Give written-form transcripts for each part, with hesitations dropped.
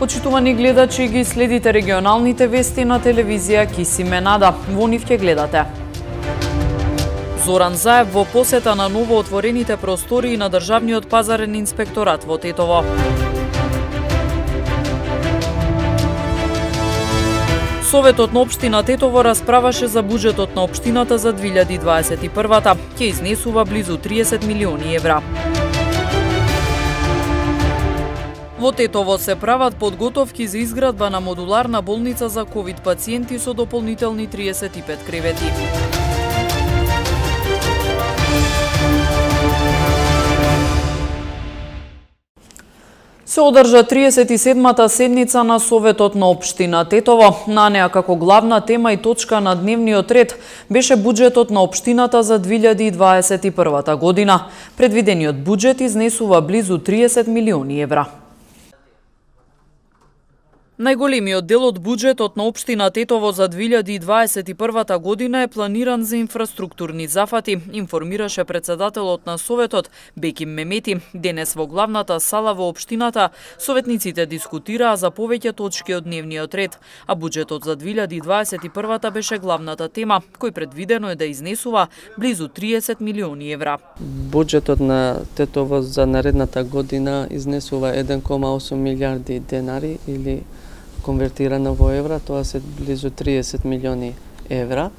Почитувани гледачи, ги следите регионалните вести на телевизија Кисиме Нада. Во нив ќе гледате. Зоран Заев во посета на ново отворените простории на Државниот пазарен инспекторат во Тетово. Советот на општина Тетово расправаше за буџетот на општината за 2021-та. Ќе изнесува близу 30 милиони евра. Во Тетово се прават подготовки за изградба на модуларна болница за ковид пациенти со дополнителни 35 кревети. Се одржа 37-та седница на Советот на општина Тетово. На неа како главна тема и точка на дневниот ред беше буџетот на општината за 2021 година. Предвидениот буџет изнесува близу 30 милиони евра. Најголемиот дел од буџетот на општина Тетово за 2021 година е планиран за инфраструктурни зафати, информираше председателот на Советот Беким Мемети. Денес во главната сала во општината советниците дискутираа за повеќе точки од дневниот ред, а буџетот за 2021 беше главната тема, кој предвидено е да изнесува близу 30 милиони евра. Буџетот на Тетово за наредната година изнесува 1,8 милиарди денари или конвертирано во евра, тоа се близу 30 милиони евра,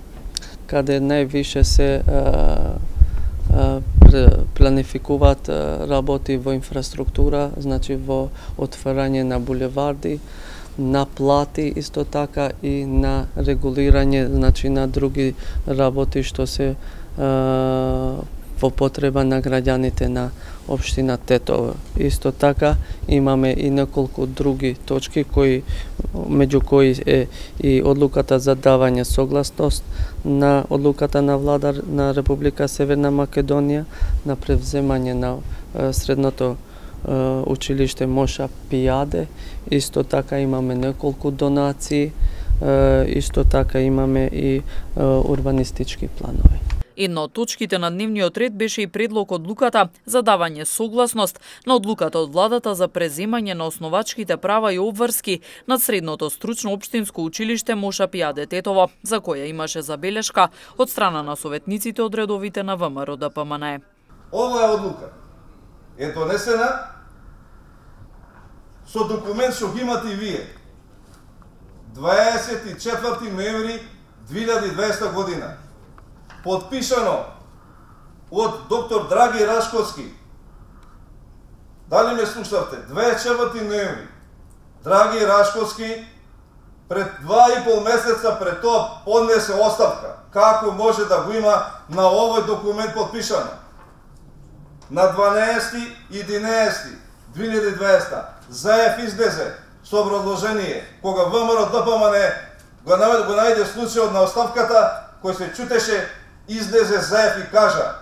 каде највише се планификуваат работи во инфраструктура, значи во отварање на булеварди, на плати, исто така и на регулирање, значи на други работи што се во потреба на граѓаните на општина Тетово. Исто така имаме и неколку други точки меѓу кои е и одлуката за давање согласност на одлуката на влада на Република Северна Македонија на превземање на средното училиште Моша Пијаде. Исто така имаме неколку донации, исто така имаме и урбанистички планови. Една од точките на дневниот ред беше и предлог одлуката за давање согласност на одлуката од владата за преземање на основачките права и обврски над средното стручно општинско училиште Моша Пијаде Тетово, за која имаше забелешка од страна на советниците од редовите на ВМРО ДПМН. Оваа одлука е донесена со документ што ги имате и вие. 24 ноември 2020 година. Подпишано од доктор Драги Рашковски. Дали ме слушавте? 24 ноември. Драги Рашковски пред 2,5 месеца пред тоа поднесе оставка. Како може да го има на овој документ подпишано? На 12.11.2020 Заев излезе со образложение кога ВМРО ДПМН го најде случајот на оставката, кој се чутеше, излезе Заев и кажа: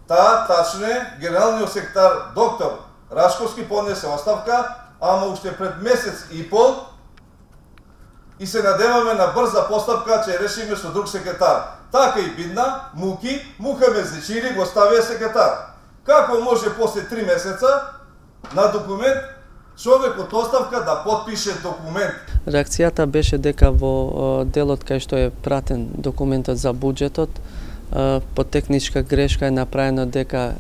тачно е, генералниот секретар доктор Рашковски поднесе оставка, ама уште пред месец и пол и се надеваме на брза постапка че решиме со друг секретар. Така и бидна, Мухамед Зечири го ставија секретар. Како може после 3 месеца на документ човек од оставка да подпише документ? Реакцијата беше дека во делот кај што е пратен документот за буџетот, по техничка грешка е направено дека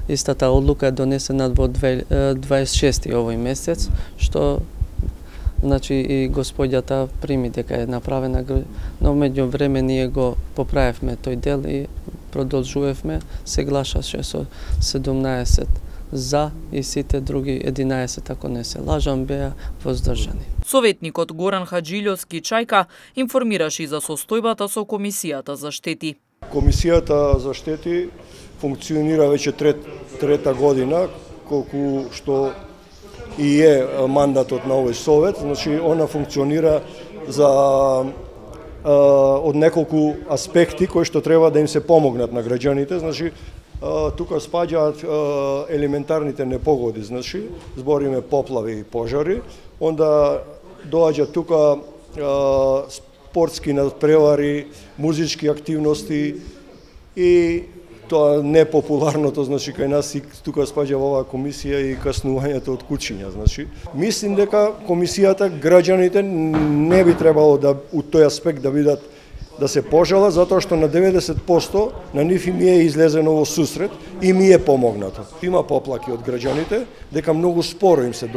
истата одлука е донесена во 26 овој месец, што значи и господјата прими дека е направена, но меѓу време ние го поправевме тој дел и продолжувавме, се гласаше со 17 за и сите други 11, ако не се лажам, беа воздржани. Советникот Горан Хаджилјовски Чајка информираше и за состојбата со Комисијата за штети. Комисијата за штети функционира веќе трета година, колку што и е мандатот на овој совет. Значи, она функционира од неколку аспекти кои што треба да им се помогнат на граѓаните. Значи, тука спаѓаат елементарните непогоди, значи, збориме поплави и пожари, онда доаѓа тука спортски надпревари, музички активности и тоа непопуларното, значи кај нас и тука спаѓа во оваа комисија и каснувањето од кучиња, значи. Мислим дека комисијата, граѓаните не би требало да у тој аспект да бидат да се пожала, затоа што на 90% на нив им е излезено во сусрет и ми е помогнато. Има поплаки од граѓаните дека многу споро им се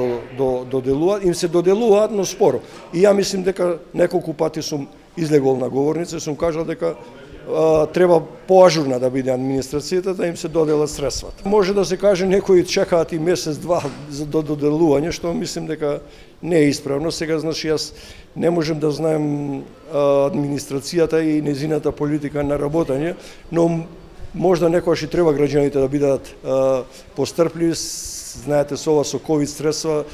доделуваат, но споро. И ја мислим дека неколку пати сум излегол на говорница и сум кажал дека треба поажурна да биде администрацијата да им се доделат средствата. Може да се каже некои чекаат и месец-два за доделување, што мислим дека не е исправно. Сега, значи, јас не можем да знаем администрацијата и незината политика на работење, но можда некогаш и треба граѓаните да бидат пострпливи. Знаете, со ова со ковид средства,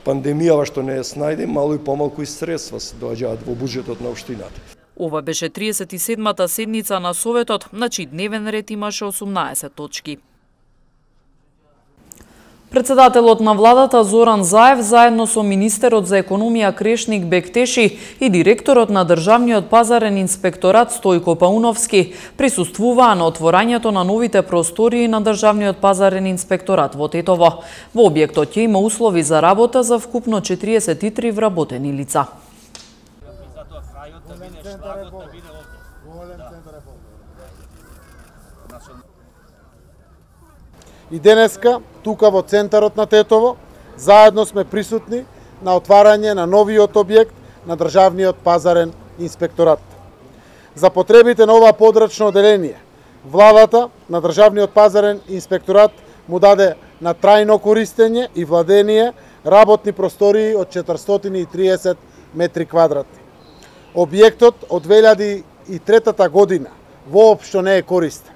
пандемијава што не е снајде, мало и помалку и средства се доаѓаат во буџетот на општината. Ова беше 37-та седница на Советот, на чиј дневен ред имаше 18 точки. Председателот на владата Зоран Заев заедно со министерот за економија Крешник Бектеши и директорот на Државниот пазарен инспекторат Стојко Пауновски присуствуваа на отворањето на новите простории на Државниот пазарен инспекторат во Тетово. Во објектот ќе има услови за работа за вкупно 43 вработени лица. И денеска, тука во центарот на Тетово, заедно сме присутни на отварање на новиот објект на Државниот пазарен инспекторат. За потребите на ова подрачно оделение, владата на Државниот пазарен инспекторат му даде на трајно користење и владение работни простории од 430 метри квадратни. Објектот од 2003 година воопшто не е користен.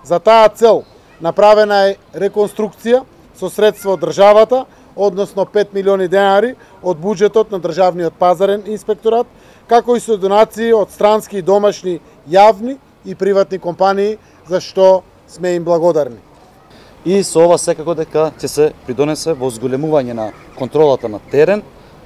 За таа цел направена е реконструкција со средства од државата, односно 5 милиони денари од буџетот на Државниот пазарен инспекторат, како и со донации од странски и домашни јавни и приватни компании, за што сме им благодарни. И со ова секако дека ќе се придонесе во зголемување на контролата на терен,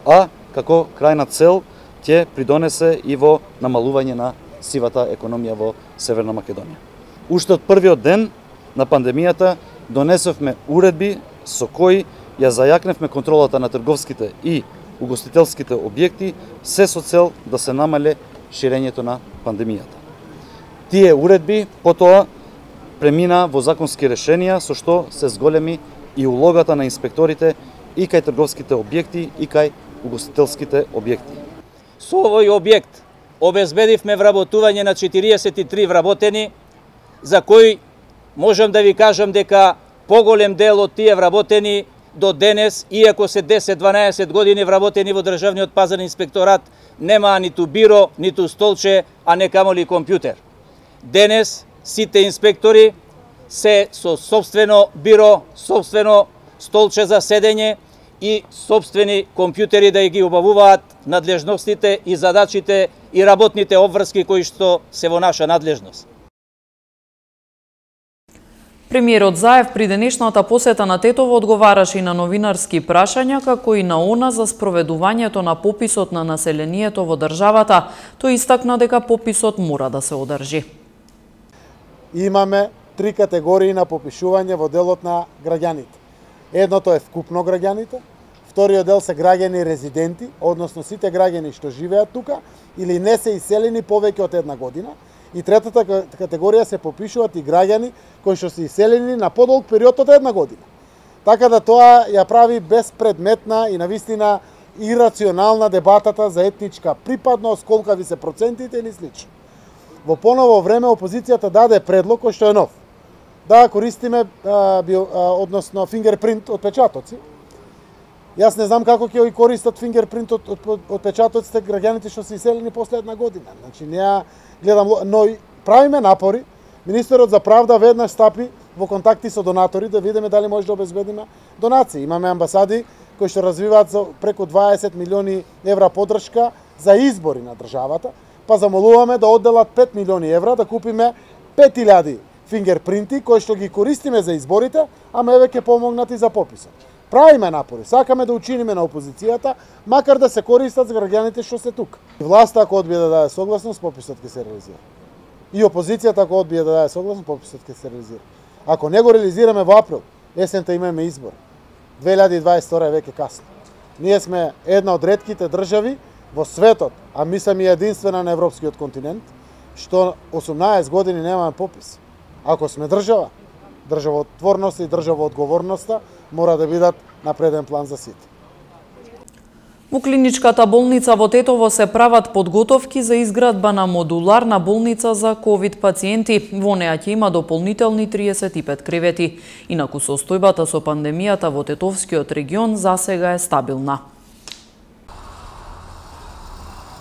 а како крајна цел ќе придонесе и во намалување на сивата економија во Северна Македонија. Уште од првиот ден на пандемијата донесовме уредби со кои ја зајакневме контролата на трговските и угостителските објекти, се со цел да се намале ширењето на пандемијата. Тие уредби потоа премина во законски решенија со што се зголеми и улогата на инспекторите и кај трговските објекти и кај угостителските објекти. Со овој објект обезбедивме вработување на 43 вработени, за кои можам да ви кажам дека поголем дел од тие вработени до денес, иако се 10-12 години вработени во Државниот пазарен инспекторат, нема ниту биро, ниту столче, а не камоли компјутер. Денес сите инспектори се со сопствено биро, сопствено столче за седење и сопствени компјутери да ги обавуваат надлежностите и задачите и работните обврски кои што се во наша надлежност. Премиерот Заев при денешната посета на Тетово одговараше и на новинарски прашања, како и на она за спроведувањето на пописот на населението во државата. Тој истакна дека пописот мора да се одржи. Имаме 3 категории на попишување во делот на граѓаните. Едното е вкупно граѓаните, вториот дел се граѓани резиденти, односно сите граѓани што живеат тука или не се иселени повеќе од една година, и третата категорија се попишуваат и граѓани кои што се иселени на подолг период од една година. Така да тоа ја прави безпредметна и навистина ирационална дебатата за етничка припадност, колкави се процентите или слично. Во поново време опозицијата даде предлог кој што е нов. Да користиме односно фингерпринт од печатоци. Јас не знам како ќе ги користат фингерпринт од печатоците граѓаните што се иселени после една година. Значи неа гледам, но правиме напори. Министерот за правда веднаш стапи во контакти со донатори да видиме дали може да обезбедиме донации. Имаме амбасади кои што развиваат за преку 20 милиони евра поддршка за избори на државата, па замолуваме да одделат 5 милиони евра да купиме 5000 фингерпринти кои што ги користиме за изборите, ама еве ќе помогнат и за пописот. Правиме напори, сакаме да учиниме на опозицијата, макар да се користат за граѓаните што се тука. Власта ако одбие да даде согласност, пописот ќе се реализира. И опозицијата ако одбие да даде согласно, пописот ќе се реализира. Ако не го реализираме во април, есента имаме избор. 2022 е веќе касно. Ние сме една од ретките држави во светот, а мислам и единствена на европскиот континент, што 18 години немаме попис. Ако сме држава, државотворност и државоодговорноста мора да бидат на преден план за сите. Во клиничката болница во Тетово се прават подготовки за изградба на модуларна болница за ковид пациенти. Во неа ќе има дополнителни 35 кревети. Инаку состојбата со пандемијата во Тетовскиот регион засега е стабилна.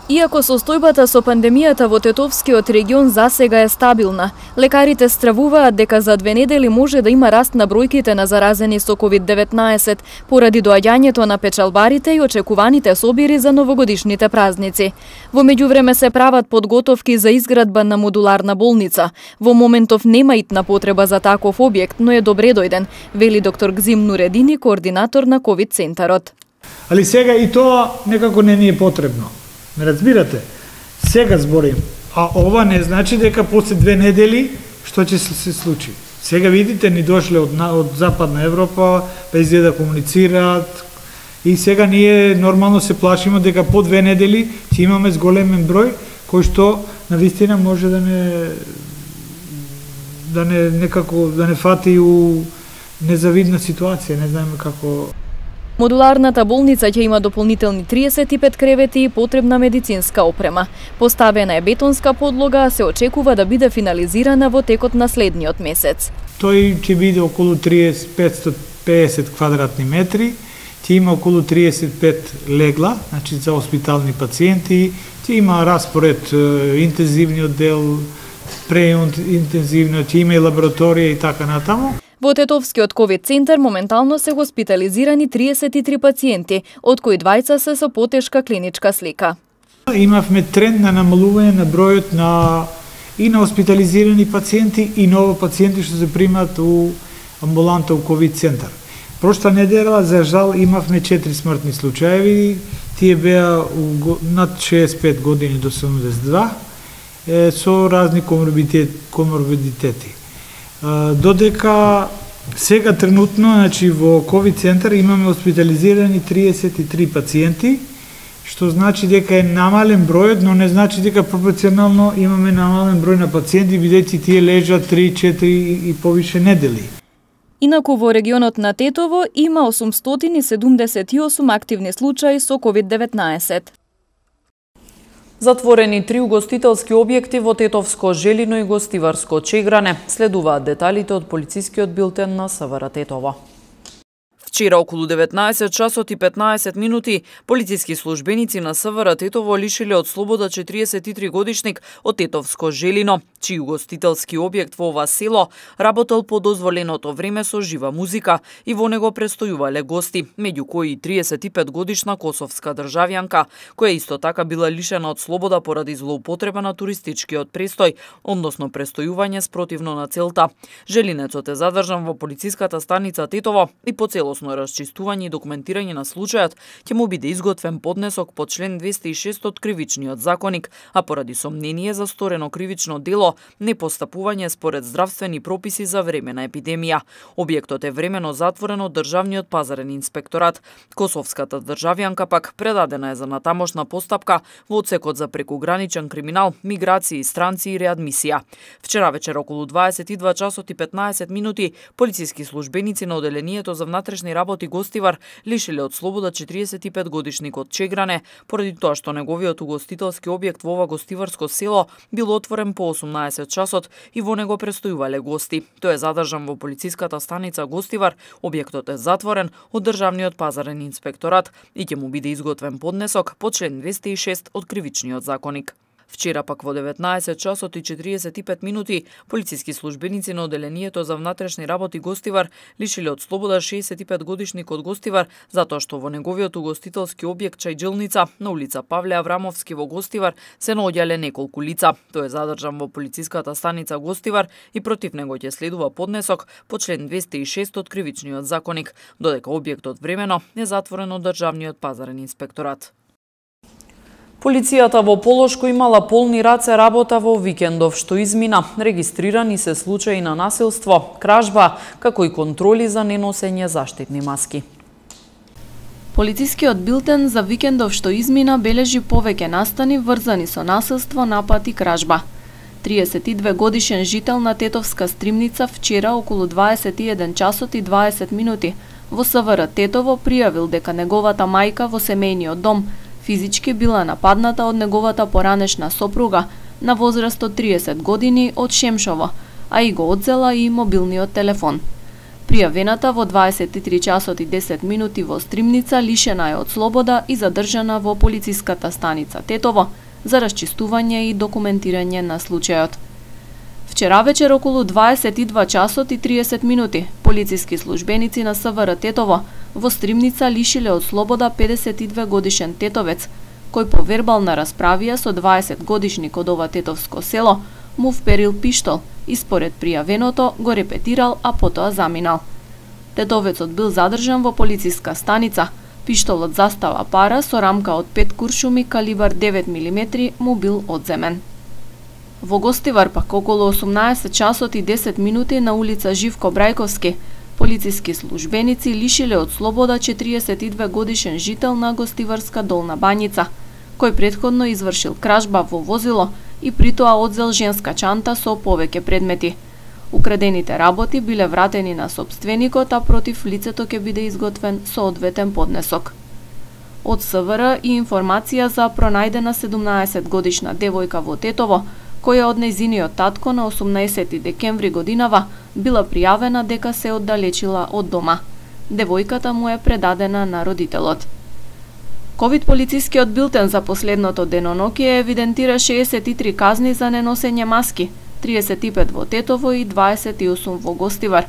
Иако состојбата со пандемијата во Тетовскиот регион засега е стабилна, лекарите стравуваат дека за 2 недели може да има раст на бројките на заразени со COVID-19 поради доаѓањето на печалбарите и очекуваните собири за новогодишните празници. Во меѓувреме се прават подготовки за изградба на модуларна болница. Во моментов нема итна потреба за таков објект, но е добре дојден, вели доктор Гзим Нуредини, координатор на ковид центарот. Али сега и тоа некако не ни е потребно. Не разбирате? Сега зборим. А ова не значи дека после 2 недели што ќе се случи. Сега видите, ни дошле од Западна Европа, па изгледа да комуницираат. И сега ние нормално се плашимо дека по 2 недели ќе имаме зголемен број кој што навистина може да не фати у незавидна ситуација, не знаеме како. Модуларната болница ќе има дополнителни 35 кревети и потребна медицинска опрема. Поставена е бетонска подлога, а се очекува да биде финализирана во текот на следниот месец. Тој ќе биде околу 550 квадратни метри, ќе има околу 35 легла, значи за хоспитални пациенти, ќе има распоред интензивниот дел, преинтензивниот, ќе има и лабораторија и така натаму. Во Тетовскиот ковид центар моментално се хоспитализирани 33 пациенти, од кои 2 се со потешка клиничка слика. Имавме тренд на намалување на бројот на хоспитализирани пациенти и ново пациенти што се примат у амбуланта у ковид центар. Прошла недела, за жал, имавме 4 смртни случаеви, тие беа над 65 години до 72, со разни коморбидитети. Додека сега тренутно, значи во ковид центар имаме хоспитализирани 33 пациенти, што значи дека е намален бројот, но не значи дека пропорционално имаме намален број на пациенти, бидејќи тие лежат 3, 4 и повише недели. Инаку во регионот на Тетово има 878 активни случаи со COVID-19. Затворени 3 угостителски објекти во Тетовско Желино и Гостиварско Чегране. Следуваат деталите од полицискиот билтен на СВР Тетово. Вчера околу 19 часот и 15 минути полициски службеници на СВР Тетово лишиле од слобода 43 годишник од Тетовско Желино, чиј угостителски објект во ова село работел по дозволеното време со жива музика и во него престојувале гости, меѓу кои 35 годишна косовска државјанка, која исто така била лишена од слобода поради злоупотреба на туристичкиот престој, односно престојување спротивно на целта. Желинецот е задржан во полициската станица Тетово и по целосно расчистување и документирање на случајот ќе му биде изготвен поднесок по член 206 од Кривичниот законник, а поради сомнение за сторено кривично дело, непостапување според здравствени прописи за време на епидемија. Објектот е времено затворен од Државниот пазарен инспекторат. Косовската државјанка пак предадена е за натамошна постапка во одсекот за прекуграничен криминал, миграции, странци и реадмисија. Вчера вечер околу 22 часот и 15 минути полициски службеници на оделението за внатрешни работи Гостивар лишиле од слобода 45 годишник од Чегране поради тоа што неговиот угостителски објект во ова гостиварско село бил отворен по 18 часот и во него престојувале гости. Тој е задржан во полициската станица Гостивар, објектот е затворен од Државниот пазарен инспекторат и ќе му биде изготвен поднесок по член 206 од Кривичниот законник. Вчера пак во 19 часот и 45 минути полициски службеници на оделението за внатрешни работи Гостивар лишиле од слобода 65 годишник од Гостивар затоа што во неговиот угостителски објект чајджилница на улица Павле Аврамовски во Гостивар се наоѓале неколку лица. Тој е задржан во полициската станица Гостивар и против него ќе следува поднесок по член 206 од Кривичниот законник, додека објектот времено е затворен од Државниот пазарен инспекторат. Полицијата во Полошко имала полни раце работа во викендов што измина. Регистрирани се случаи на насилство, кражба, како и контроли за неносење заштитни маски. Полицискиот билтен за викендов што измина бележи повеќе настани врзани со насилство, напад и кражба. 32 годишен жител на Тетовска Стримница вчера околу 21 часот и 20 минути во СВР Тетово пријавил дека неговата мајка во семејниот дом физички била нападната од неговата поранешна сопруга на возраст од 30 години од Шемшово, а и го одзела и мобилниот телефон. Пријавената во 23 часот и 10 минути во Стримница лишена е од слобода и задржана во полициската станица Тетово за расчистување и документирање на случајот. Вчера вечер околу 22 часот и 30 минути полициски службеници на СВР Тетово во Стримница лишиле од слобода 52 годишен тетовец, кој по вербална расправија со 20 годишник од ова тетовско село му вперил пиштол и според пријавеното го репетирал, а потоа заминал. Тетовецот бил задржан во полициска станица. Пиштолот застава пара со рамка од 5 куршуми калибар 9 мм му бил одземен. Во Гостивар пак околу 18 часот и 10 минути на улица Живко Брајковски полициски службеници лишиле од слобода 42 годишен жител на Гостиварска Долна Бањица, кој претходно извршил кражба во возило и притоа одзел женска чанта со повеќе предмети. Украдените работи биле вратени на сопственикот, а против лицето ќе биде изготвен соодветен поднесок. Од СВР и информација за пронајдена 17 годишна девојка во Тетово, која од нејзиниот татко на 18 декември годинава била пријавена дека се оддалечила од дома. Девојката му е предадена на родителот. Ковид полицискиот билтен за последното деноноќие евидентира 63 казни за неносење маски, 35 во Тетово и 28 во Гостивар.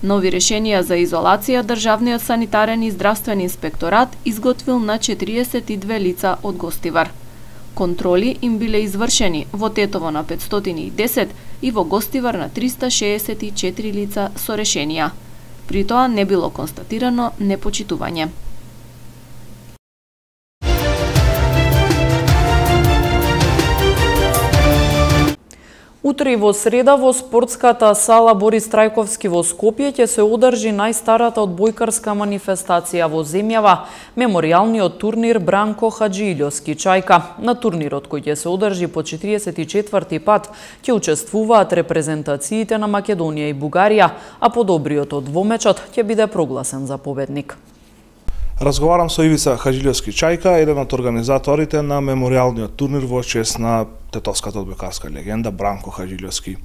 Нови решенија за изолација Државниот санитарен и здравствен инспекторат изготвил на 42 лица од Гостивар. Контроли им биле извршени во Тетово на 510 и во Гостивар на 364 лица со решенија. При тоа не било констатирано непочитување. Утре и во среда во спортската сала Борис Трајковски во Скопје ќе се одржи најстарата одбојкарска манифестација во земјава, меморијалниот турнир Бранко Хаџиилјовски Чајка. На турнирот кој ќе се одржи по 44-ти пат ќе учествуваат репрезентациите на Македонија и Бугарија, а подобриот од двомечот ќе биде прогласен за победник. Разговарам со Ивица Хаџиилјовски Чајка, еден од организаторите на меморијалниот турнир во чест на тетовската одбојкарска легенда Бранко Хаџиилјовски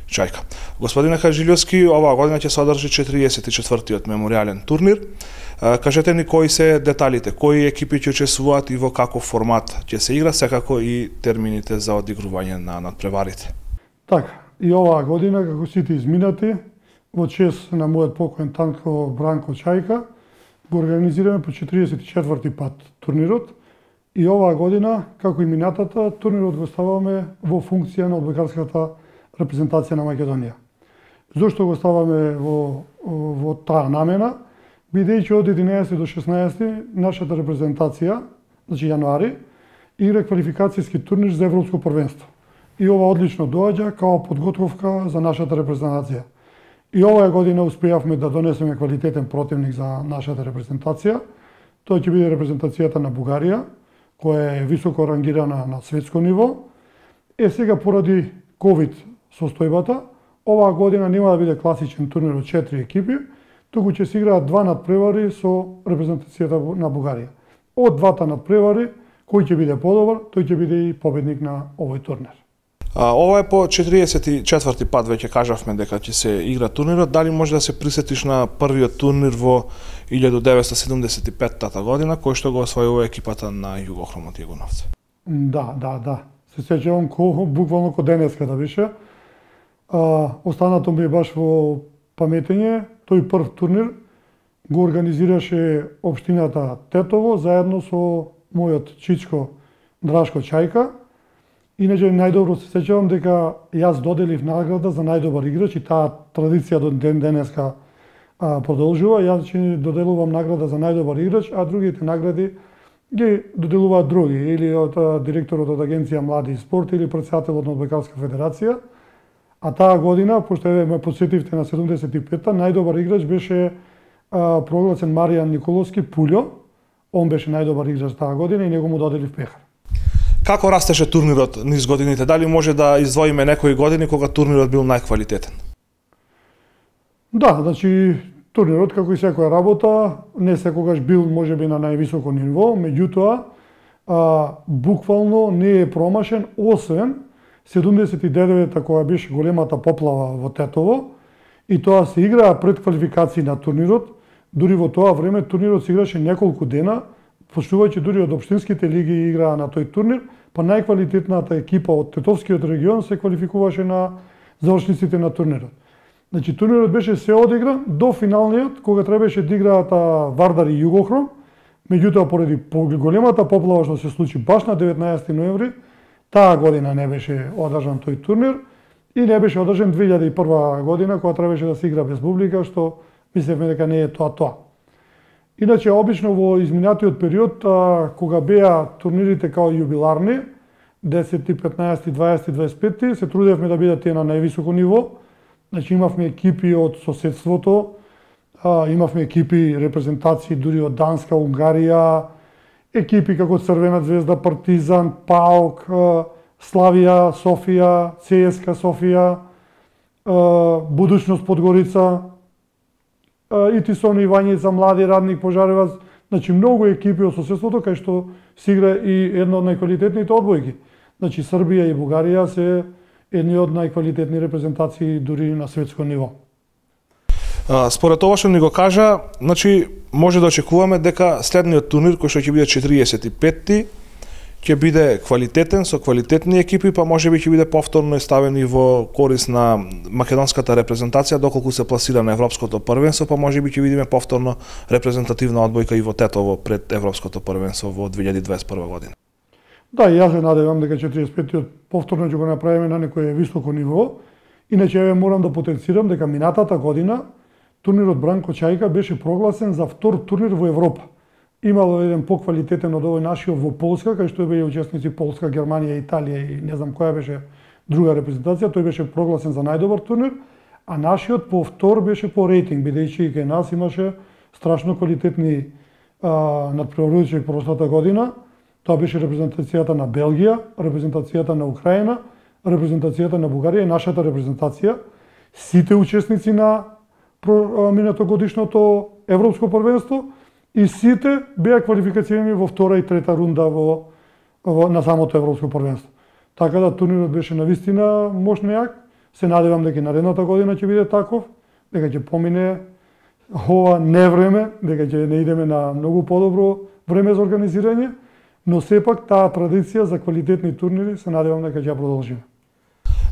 Чајка. Господине Хаџиилјовски, оваа година ќе се одржи 44-тиот меморијален турнир. Кажете ни кои се деталите, кои екипи ќе учествуваат и во каков формат ќе се игра, секако и термините за одигрување на надпреварите. Така, и оваа година, како сите изминати, во чест на мојот покоен танко Бранко Чајка, го организираме по 44-ти пат турнирот и оваа година, како и минатата, турнирот го ставаме во функција на одбојкарската репрезентација на Македонија. Зошто го ставаме во таа намена? Бидејќи од 11 до 16 нашата репрезентација, значи јануари, игра квалификацијски турнир за Европско првенство. И ова одлично доаѓа као подготовка за нашата репрезентација. И оваа година успеавме да донесеме квалитетен противник за нашата репрезентација. Тоа ќе биде репрезентацијата на Бугарија, која е високо рангирана на светско ниво. Сега поради ковид состојбата, оваа година нема да биде класичен турнир од 4 екипи, туку ќе се играат 2 надпревари со репрезентацијата на Бугарија. Од двата надпревари, кој ќе биде подобар, тој ќе биде и победник на овој турнир. Ова е по 44-ти пат, веќе кажавме дека ќе се игра турнирот. Дали може да се присетиш на првиот турнир во 1975 година, кој што го освојува екипата на Југохромот Јегуновци? Да. Се сеќавам буквално ко денеска да беше. Останато ми е баш во паметење. Тој прв турнир го организираше општината Тетово заедно со мојот чичко Драшко Чајка. Иначе најдобро се сеќавам дека јас доделив награда за најдобар играч и таа традиција до ден денеска продолжува. Јас ќе доделувам награда за најдобар играч, а другите награди ги доделуваат други, или од директорот од Агенција Млади и спорт, или претседателот на Одбојкарска федерација. А таа година, пошто ме подсетивте на 75-та, најдобар играч беше прогласен Маријан Николовски Пулјо. Он беше најдобар играч таа година и него му доделив пехар. Како растеше турнирот низ годините? Дали може да издвоиме некои години кога турнирот бил најквалитетен? Да, значи турнирот, како и секоја работа, не секогаш бил можеби на највисоко ниво, меѓутоа буквално не е промашен, освен 79-та која беше големата поплава во Тетово, и тоа се играа пред квалификации на турнирот. Дури во тоа време турнирот се играше неколку дена, почнувајќи дури од општинските лиги играа на тој турнир, па најквалитетната екипа од Тетовскиот регион се квалификуваше на завршниците на турнирот. Значи турнирот беше се одигран до финалниот, кога требаше да играат Вардар и Југохром, меѓутоа поради големата поплава што се случи баш на 19 ноември, таа година не беше одржан тој турнир и не беше одржан 2001 година, кога требаше да се игра без публика, што мислевме дека не е тоа. Иначе, обично во изминатиот период, кога беа турнирите као јубиларни, 10, 15, 20, 25, се трудевме да бидат тие на највисоко ниво. Значи, имавме екипи од соседството, имавме екипи, репрезентации дури од Данска, Унгарија, екипи како Црвена звезда, Партизан, ПАОК, Славија, Софија, ЦСКА Софија, Будучност Подгорица, ИТИСОН Ивањица, Млади Радник, Пожареваc, значи многу екипи од соседството кај што се игра и една од најквалитетните одбојки. Значи Србија и Бугарија се едни од најквалитетни репрезентации дури на светско ниво. Според ова што ни го кажа, значи може да очекуваме дека следниот турнир кој што ќе биде 45-ти ќе биде квалитетен со квалитетни екипи, па можеби ќе биде повторно ставени во корис на македонската репрезентација доколку се пласира на европското првенство, па можеби ќе видиме повторно репрезентативна одбојка и во Тетово пред европското првенство во 2021 година. Да, и јас се надевам дека 45-тиот повторно ќе го направиме на некое високо ниво. Иначе ја морам да потенцирам дека минатата година турнирот Бранко Чајка беше прогласен за втор турнир во Европа. Имало еден поквалитетен од овој нашиот во Полска, кај што беа учесници Полска, Германија, Италија и не знам која беше друга репрезентација. Тој беше прогласен за најдобар турнир, а нашиот по втор беше по рейтинг, бидејќи и кај нас имаше страшно квалитетни надпреварувачи прошлата година. Тоа беше репрезентацијата на Белгија, репрезентацијата на Украина, репрезентацијата на Бугарија и нашата репрезентација. Сите учесници на минатогодишното европско првенство и сите беа квалификацирани во втора и трета рунда на самото европско првенство. Така да турнирот беше навистина мощно јак. Се надевам дека наредната година ќе биде таков, дека ќе помине ова невреме, дека ќе не идеме на многу подобро време за организирање, но сепак таа традиција за квалитетни турнири се надевам дека ќе ја продолжиме.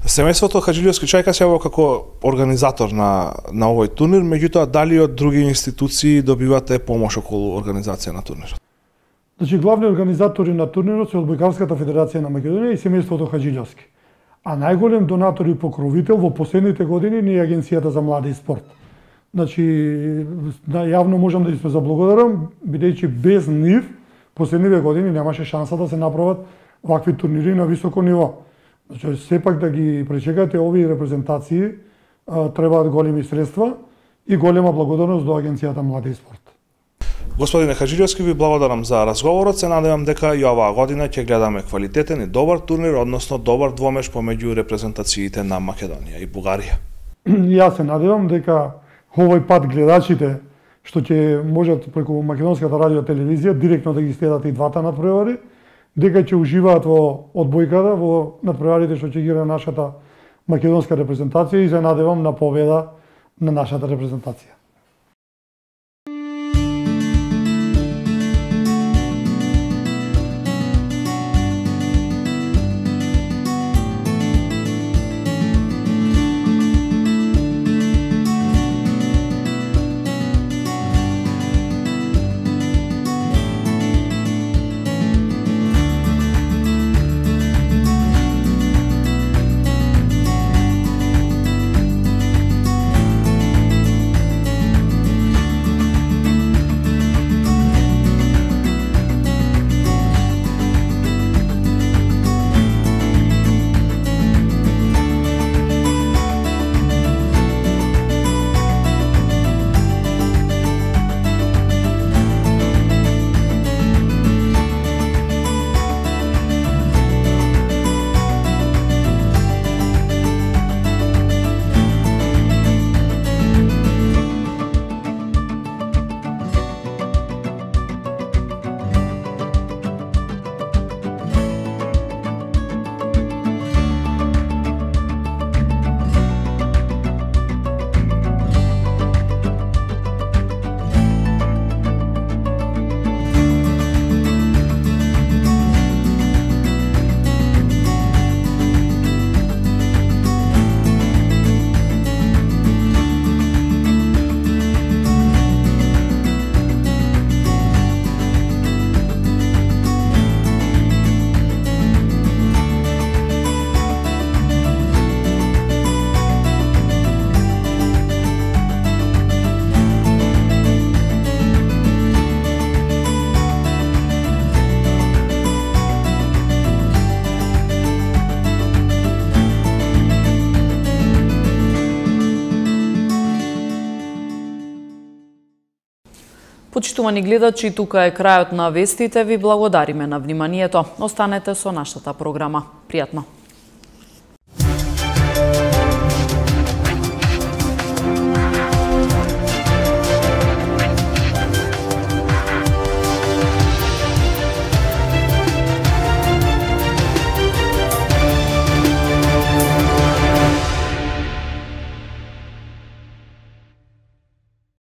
Семејството Хаджилиовски Чајка се јавува како организатор на овој турнир, меѓутоа дали од други институции добивате помош околу организација на турнирот? Значи главни организатори на турнирот се Одбојкарската федерација на Македонија и семејството Хаджилиовски. А најголем донатор и покровител во последните години не е Агенцијата за млади и спорт. Значи јавно можам да им се заблагодарам, бидејќи без нив последниве години немаше шанса да се направат вакви турнири на високо ниво. Значи, сепак да ги пречекате овие репрезентации, требаат големи средства и голема благодарност до Агенцијата Млади и спорт. Господине Хаджилиовски, ви благодарам за разговорот. Се надевам дека и оваа година ќе гледаме квалитетен и добар турнир, односно добар двомеж помеѓу репрезентациите на Македонија и Бугарија. Јас се надевам дека овој пат гледачите што ќе можат преку Македонската радио телевизија директно да ги следат и двата надпревари, дека ќе уживаат во одбојката, во надпреварите што ќе ги игра нашата македонска репрезентација и се надевам на победа на нашата репрезентација. Почитувани гледачи, тука е крајот на вестите. Ви благодариме на вниманието. Останете со нашата програма. Пријатно!